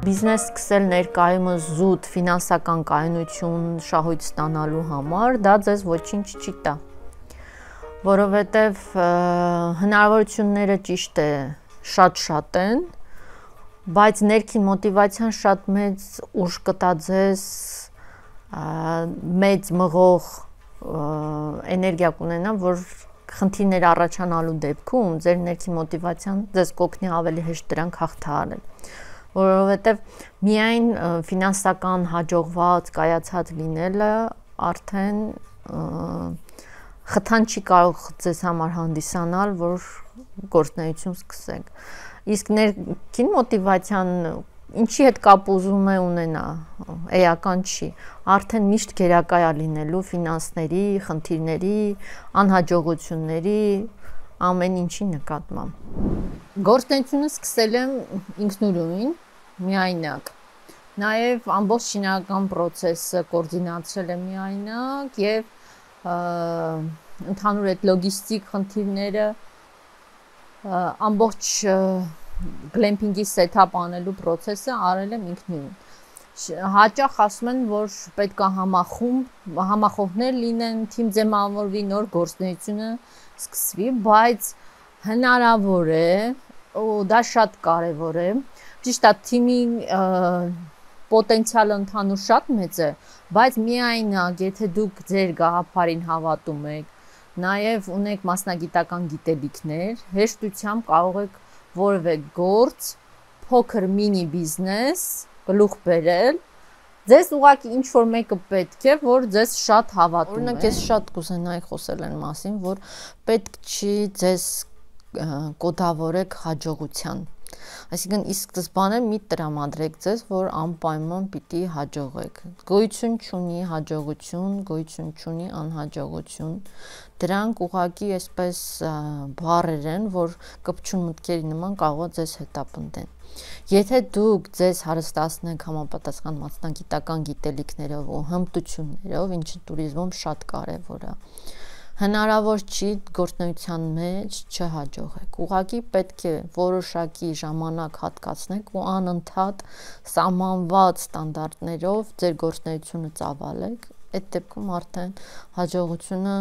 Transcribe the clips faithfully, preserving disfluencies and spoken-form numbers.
Բիզնես սկսել ներկայումս զուտ ֆինանսական կայունություն շահույթ ստանալու համար, դա ձեզ ոչինչ չի տա, որովհետև հնարավորությունները ճիշտ է շատ-շատ են, բայց ներքին մոտիվացիան շատ մեծ ուժ կտա ձեզ, մեծ մղող էներգիա կունենա, որ խնդիրներ առաջանալու դեպքում ձեր ներքին մոտիվացիան ձեզ կօգնի ավելի հեշտ դրանք հաղթահարել, որովհետև միայն ֆինանսական հաջողված, կայացած լինելը արդեն խթան չի կարող ձեզ համար հանդիսանալ, որ գործունեություն սկսեք, իսկ ներքին մոտիվացիան ինչի հետ կապ ուզում է ունենա, էական չի, արդեն միշտ գերակա է լինելու ֆինանսների, խնդիրների, անհաջողությունների, ամեն ինչի նկատմամբ։ Գործունեությունը սկսել եմ ինքնուրույն, միայնակ, նաև ամբողջ շինարարական պրոցեսը կոորդինացրել եմ միայնակ և ընդհանուր այդ լոգիստիկ խնդիրները ամբողջ գլեմփինգի սեթափ անելու պրոցեսը արել եմ ինքնուրույն։ Հաճախ ասում են, որ պետք է համախումբ, համախոհներ լինեն, թիմ ձևավորվի, նոր գործունեությունը սկսվի, բայց հնարավոր է, ու դա շատ կարևոր է, ճիշտ է, թիմի պոտենցիալը ընդհանուր շատ մեծ է, բայց միայնակ, եթե դուք ձեր գաղափարին հավատում եք, նաև ունեք մասնագիտական գիտելիքներ, հեշտությամբ կարող եք որևէ գործ, փոքր մինի բիզնես, գլուխ բերել, ձեզ ուղղակի ինչ-որ մեկը պետք է, որ ձեզ շատ հավատում է։ Օրինակ, ես շատ կուզենայի խոսել այն մասին, որ պետք չի ձեզ կոդավորեք հաջողության։ Այսինքն, ի սկզբանե մի տրամադրեք ձեզ, որ անպայման պիտի հաջողեք։ Գոյություն չունի հաջողություն, գոյություն չունի անհաջողություն։ Դրանք ուղղակի այսպես բառեր են, որ կպչուն մտքերի նման կարող է ձեզ հետապնդեն։ Եթե դուք ձեզ հարստացնեք համապատասխան մասնագիտական գիտելիքներով ու հմտություններով, ինչը տուրիզմում շատ կարևոր է, հնարավոր չի գործունեության մեջ չհաջողեք։ Ուղղակի պետք է որոշակի ժամանակ հատկացնեք ու անընդհատ սահմանված ստանդարտներով ձեր գործունեությունը ծավալեք, այդ դեպքում արդեն հաջողությունը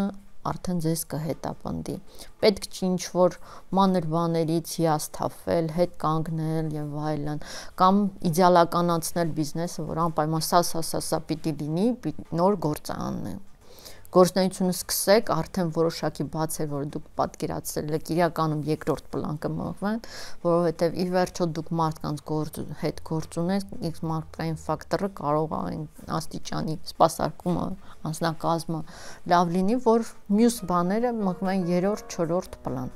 արդեն ձեզ կհետապնդի։ Պետք չի ինչ-որ մանր բաներից հիասթափվել, հետ կանգնել եւ այլն, կամ իդեալականացնել բիզնեսը, որ անպայման սա, սա, սա, սա պիտի լինի, նոր գործ անենք։ Գործունեությունը սկսեք, արդեն որոշակի բաց է, որ դուք պատկերացրել եք, իրականում երկրորդ պլան կմղվեն, որովհետև ի վերջո դուք մարդկանց գործ, հետ գործ ունեք, իսկ մարդկային ֆակտորը կարող է այն աստիճանի սպասարկումը, անձնակազմը լավ լինի, որ մյուս բաները մղվեն երրորդ, չորրորդ պլան։